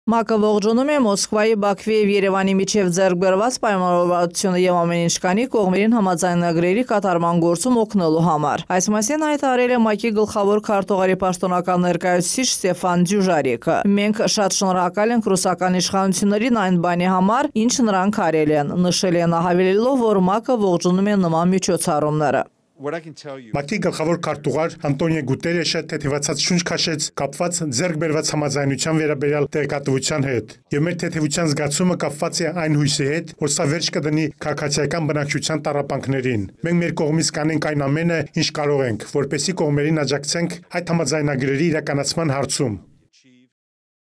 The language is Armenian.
ՄԱԿ-ը ողջունում է Մոսկվայի, Բաքվի և Երևանի միջև ձեռք բերված պայմանավորվածությունը և ամեն ինչ կանի կողմերին համաձայնագրերի կատարման գործում օգնելու համար։ Այս մասին հայտարարել է ՄԱԿ-ի գլխավոր քարտուղարի պաշտոնական ներկայացուցիչ Ստեֆան Դյուժարիկը։ Մենք շատ շնորհակալ ենք ռուսական իշխանություններին այն բանի համար, ինչ նրանք արել են, նշել են, հավելելով, որ ՄԱԿ-ը ողջունում է նման միջոցառումները։ ՄԱԿ-ի գլխավոր քարտուղար Անտոնիո Գուտերեշը թեթևացած շունչ քաշեց կապված ձեռք բերված համաձայնության վերաբերյալ տեղեկատվության հետ, եւ մեր թեթևության զգացումը կապված է այն հույսի հետ, որ սա վերջ կդնի քաղաքացիական բնակչության տառապանքներին։ Մենք մեր կողմից կանենք այն ամենը, ինչ կարող ենք, որպեսզի կողմերին աջակցենք այդ համաձայնագրերի իրականացման հարցում։